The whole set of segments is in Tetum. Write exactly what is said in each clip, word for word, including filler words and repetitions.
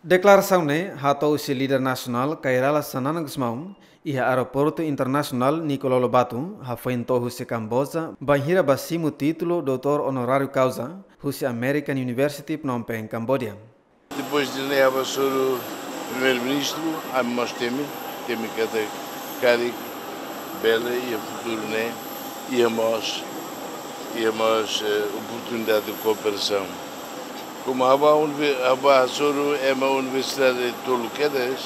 Deklarasaun ne'e hato'o husi líder nasionál Kay Rala Xanana Gusmão iha Aeroportu Internasionál Nicolau Lobato, hafoin to'o husi Kamboja, bainhira ba simu títulu doutór onoráriu kauza husi American University Phnom Penh, Cambodia. Depois de ne'e, ha'u hasoru Primeiru-Ministru, ami mós temi, temi katak karik bele iha futuru ne'e iha mós, iha mós, eh, oportunidade de kooperasaun. Komu ha'u bá univer-, ha'u bá hasoru ema universidade tolu kedas,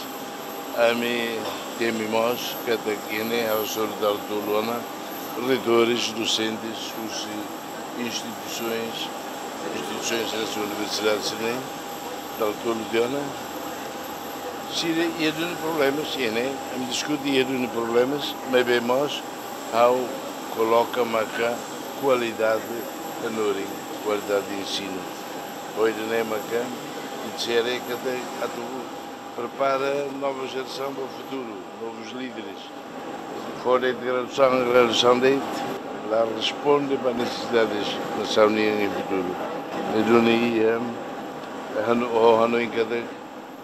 ami temi mós katak iha ne'e ha'u hasoru dala tolu ona reitores, dosentes, husi instituisoens, instituisoens sira, universidades sira-ne'e, dala tolu tiha ona. Sira iha duni problemas, iha ne'e, ami diskute iha duni problemas, maibé mós ha'u koloka maka kualidade hanorin, kualidade de ensinu. Ohin ne'e maka, ita sira katak atu prepara nova jerasaun ba futuru, novos líderes. Fó de'it graduasaun, graduasaun de'it la responde ba nesesidades nasaun nian iha futuru. Ne'e duni iha, eh, hanu-, ho hanoin katak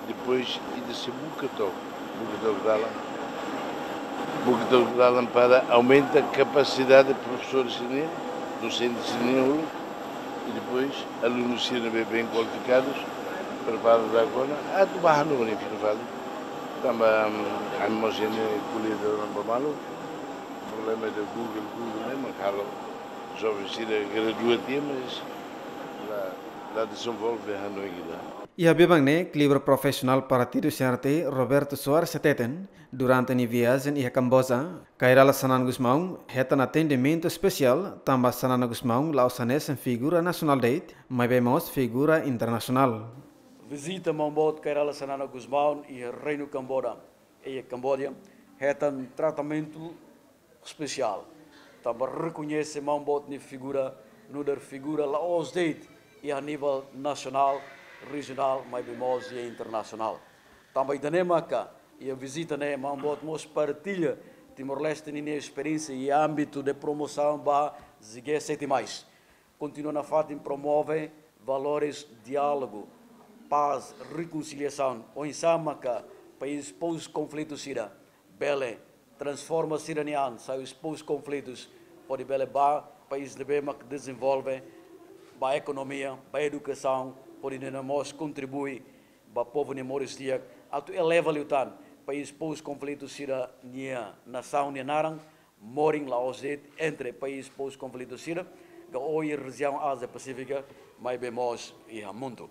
depois ita sei buka took, buka took dalan. Buka took dalan para aumenta kapasidade profesores sira-nian, dosentes sira-nian uluk, i depois alunus sira ne'ebé bem kualifikadus, prepara tiha ona, atu bá hanorin fila fali. Tanba, mm, ami mós iha ne'e ko'alia dala ruma ba malu, problema de Google, Google ne'e mak halo joven sira gradua tiha, mas la, la dezenvolve hanoin ida. Iha biban ne'e, klibur profisionál partidu C R T, Roberto Soares hateten, durante nia viajen iha Kamboja, Kay Rala Xanana Gusmão hetan atendimentu espesiál, tanba Xanana Gusmão la'ós hanesan figura nasionál de'it, maibé mós figura internasionál. Vizita maun boot Kay Rala Xanana Gusmão iha Reinu Kamboja, iha Kamboja, hetan tratamentu espesiál. Tanba rekoñese maun boot nia figura, nu'udar figura la'ós de'it iha nivel nasionál, rejionál, maibé mós iha internasionál. Tanba ida-ne'e maka, iha vizita ne'e maun boot mós partilla Timor-Leste ninia esperiénsia iha ámbitu de promosaun ba G sete mais. Kontinua nafatin promove valores diálogu, pás, rekonsiliasaun, oinsá maka país pós-konflitu sira bele transforma sira-nia an, sai husi pós-konflitus, hodi bele ba país ne'ebé mak dezenvolve, ba ekonomia, ba edukasaun, hodi nune'e mós kontribui ba povu nia moris di'ak, atu eleva liután país pós-konflitu sira-nia, nasaun nia naran, morin la'ós de'it entre país pós-konflitu sira, ka ohin rejiaun Ázia Pasífika, maibé mós iha mundu.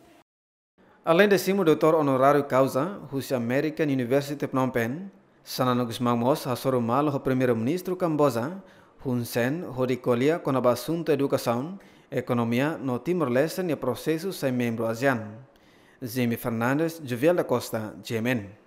Aleinde simu doutór onoráriu kauza husi American University Phnom Penh, Xanana Gusmão mós hasoru malu ho Primeiru-Ministru Kamboja, Hun Sen, hodi ko'alia kona-ba asuntu edukasaun, ekonomia no Timor-Leste nia prosesu sai membru ASEAN. Jimmy Fernandes, Jovial da Costa, G M N.